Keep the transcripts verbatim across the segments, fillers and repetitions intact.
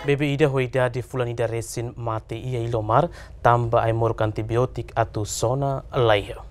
Bebé ida ho idade fulan ida resin mate iha Iliomar, tanba ai-moruk antibiotik atu sona laiha.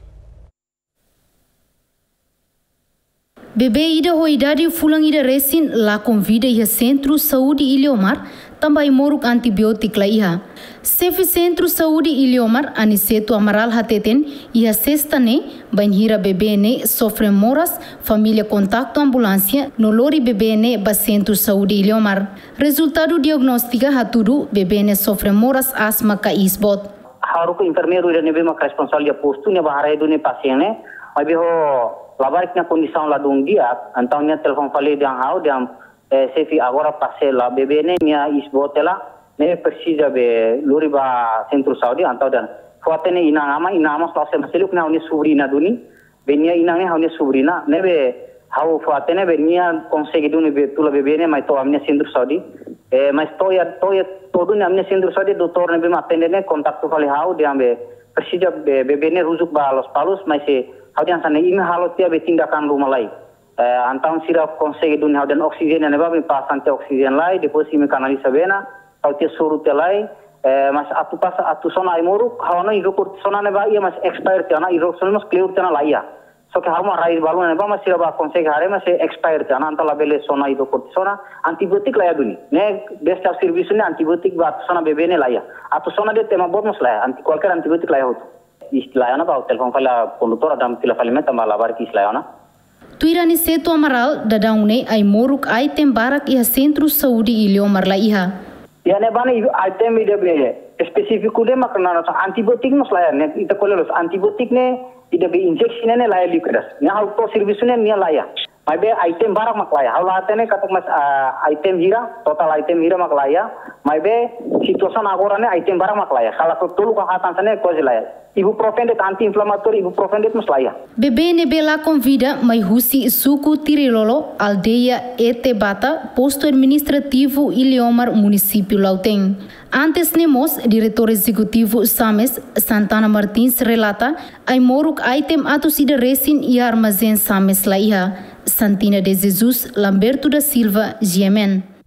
Bebé ida ho idade fulan ida resin lakon vida iha Sentru Saúde Iliomar, tanba ai-moruk antibiotik laiha. Xefe Sentru Saúde Iliomar, Aniceto Amaral hateten, iha sesta ne'e, bainhira bebé ne'e sofre moras, família kontaktu ambulánsia, no lori bebé ne'e ba Sentru Saúde Iliomar. Rezultadu diagnóstika hatudu, bebé ne'e sofre moras asma ka iis boot. Ha'u haruka enfermeiru ida ne'ebé maka responsavel iha postu ne'e bá haree duni pasiente ne'e, maibé ho labarik nia kondisaun ladún di'ak, entaun nia telefone fali dehan ha'u, dehan, eh, xefe, agora pasiente la, bebé ne'e nia iis boot hela, ne'e presiza be lori ba Sentru Saúde, entaun dehan, fó hatene inan-aman, inan-aman selalu se maseliuk ne'e ha'u-nia sobriña duni, be nia inan ne'e ha'u-nia sobriña, ne'ebé ha'u fó hatene be nia konsege duni be tula bebé ne'e mai to'o ami-nia Sentru Saúde. Eh, mas to'o iha, to'o iha, to'o duni ami-nia Sentru Saúde, doutór ne'ebé mak atende ne'e kontaktu fali ha'u, dehan be presiza be, bebé ne'e rujuk ba Lospalos, mas se ha'u dehan hanesan ne'e, imi halo tiha be tindakan ruma lai. Eh, entaun sira konsege duni ha'u dehan oksijéniu ne'ebá, imi pasa tiha oksijéniu lai, depois imi kanaliza bee ne'e, ha'u tiha soru tiha lai, eh, mas atu pasa, atu sona ai-moruk, ha'u hanoin hidrokortisona ne'ebá iha mas expire tiha ona, hidrokortisona mas kleur tiha ona laiha. Só ke ha'u mak rai balun ne'ebá mas sira bá konsege haree mas expire tiha ona, entaun labele sona hidrokortisona, antibiotik laiha duni. Ne'e besta servisu ne'e antibiotik ba atu sona bebé ne'e laiha. Atu sona de'it ema boot mós laiha, anti, kualkér antibiotik laiha hotu. Iis laiha ona, bá telefone fali kondutór, dehan fila fali mai tanba labarik iis laiha ona. Tuir Aniceto Amaral, daudaun ne'e ai-moruk item barak iha Sentru Saúde Iliomar laiha. Iha ne'ebá ne'e item ida be espesífiku de'it mak naran antibiotik mós laiha, ne'e ita ko'alia loos, antibiotik ne'e ida be injeksi ne'e, ne'e laiha líkidu. Ne'e ha'u to'o servisu ne'e nia laiha. Maibé item barak mak laiha. Ha'u la hatene katak mas, ah, item hira, totál item hira mak laiha. Maibé situasaun agora ne'e item barak mak laiha. Kala tolu ka haat hanesan ne'e kuaze laiha. Ibuprofen de'it anti-inflamatóriu, ibuprofen de'it mós laiha. Bebé ne'ebé lakon vida mai husi suku Tirilolo, aldeia Etebata, postu administrativu Iliomar, munisípiu Lautém. Antes ne'e mós, Diretór Ezekutivu SAMES, Santana Martins relata, ai-moruk item atus ida resin iha armazén SAMES laiha. Santina de Jesus, Lamberto da Silva, G M N.